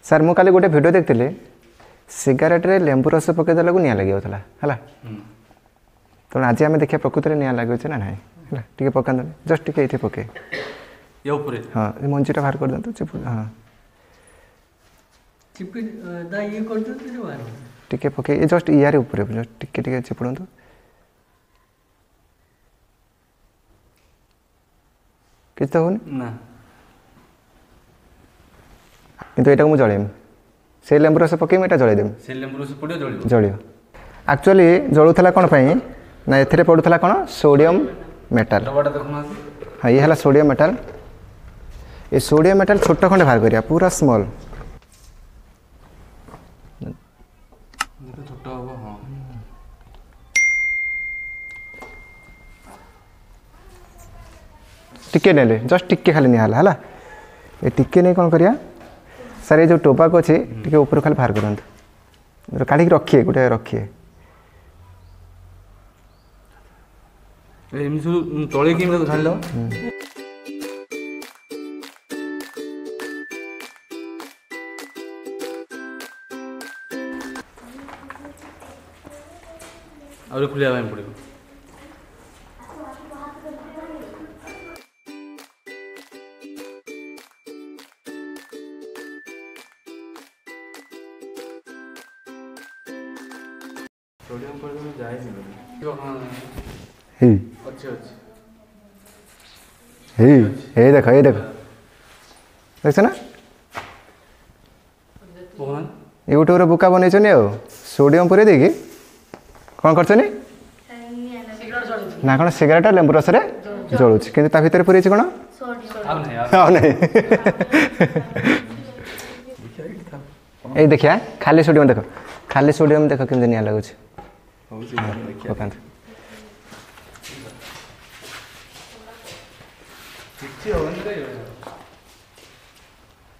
Sir ମୁଁ କାଲି ଗୋଟେ ଭିଡ଼ିଓ ଦେଖିଥିଲି, ସିଗାରେଟ୍ରେ ଲେମ୍ବୁ ରସ ପକାଇ ଦେଲାକୁ ନିଆଁ ଲାଗିଯାଉଥିଲା ହେଲା। ତେଣୁ ଆଜି ଆମେ ଦେଖିବା ପ୍ରକୃତରେ ନିଆଁ ଲାଗୁଛି ନା ନାହିଁ। ହେଲା, ଟିକେ ପକାନ୍ତୁ, ଜଷ୍ଟ ଟିକେ ଏଇଠି ପକେଇ ଉପରେ। ହଁ, ଏ ମଞ୍ଜିଟା ବାହାର କରିଦିଅନ୍ତୁ। ଚିପୁ, ହଁ, ଟିକେ ପକେଇ ଜଷ୍ଟ ଇଆରି ଉପରେ ଜଷ୍ଟ ଟିକେ ଟିକେ ଚିପୁଡ଼ନ୍ତୁ। କିଛି ତ ହେଉନି ନା, କିନ୍ତୁ ଏଇଟାକୁ ମୁଁ ଜଳେଇବି। ସେଇ ଲେମ୍ବୁ ରସ ପକେଇବି, ଏଇଟା ଜଳେଇଦେବି। ସେ ଲେମ୍ବୁ ରସ ପଡ଼ିବ, ଜଳିବ। ଜଳିବ। ଆକ୍ଚୁଆଲି ଜଳୁଥିଲା କ'ଣ ପାଇଁ ନା ଏଥିରେ ପଡ଼ୁଥିଲା କ'ଣ? Sodium metal. ଡବାଟା ଦେଖୁନାହାନ୍ତି? ହଁ, ଇଏ ହେଲା ସୋଡ଼ିୟମ୍ ମେଟାଲ। ଏ ସୋଡ଼ିୟମ୍ ମେଟାଲ ଛୋଟ ଖଣ୍ଡେ ବାହାର କରିବା, ପୁରା ସ୍ମଲ୍। ଛୋଟ ହବ। ହଁ, ଟିକେ ନେଲେ, ଜଷ୍ଟ ଟିକେ ଖାଲି ନିଆ ହେଲା। ହେଲା, ଏ ଟିକେ ନେଇ କ'ଣ କରିବା ସାର୍? ଏ ଯେଉଁ ଟୋବାକୋ ଅଛି, ଟିକେ ଉପରୁ ଖାଲି ବାହାର କରନ୍ତୁ, କାଢ଼ିକି ରଖିଏ, ଗୋଟେ ରଖିଏ। ଏମିତି ସବୁ ତଳେ କେମିତି ଢାଳିଦେବ? ଆହୁରି ଖୋଲିବା ପାଇଁ ପଡ଼ିବ। ସୋଡ଼ିୟମ୍ ପର୍ଯ୍ୟନ୍ତ ଯାଇନି। ହେଇ ଅଛି, ଅଛି। ହେଇ, ଏଇ ଦେଖ, ଏଇ ଦେଖ, ଦେଖଛ ନା? ୟୁଟ୍ୟୁବରେ ବୁକା ବନେଇଛନ୍ତି ଆଉ ସୋଡ଼ିୟମ୍ ପୁରେଇ ଦେଇକି କ'ଣ କରିଛନ୍ତି ନା କ'ଣ ସିଗାରେଟ୍ ଲେମ୍ବୁ ରସରେ ଜଳୁଛି, କିନ୍ତୁ ତା ଭିତରେ ପୁରେଇଛି କ'ଣ? ଆଉ ନାହିଁ। ଏଇ ଦେଖିବା, ଖାଲି ସୋଡ଼ିୟମ୍ ଦେଖ, ଖାଲି ସୋଡ଼ିୟମ୍ ଦେଖ କେମିତି ନିଆଁ ଲାଗୁଛି। ପକାନ୍ତୁ।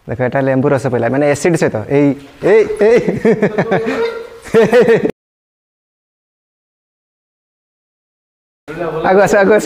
ଦେଖ, ଏଟା ଲେମ୍ବୁ ରସ ପଇଲା, ମାନେ ଏସିଡ୍ ସହିତ। ଏଇ ଏଇ ଏଇ, ଆଗକୁ ଆସ, ଆଗକୁ ଆସ।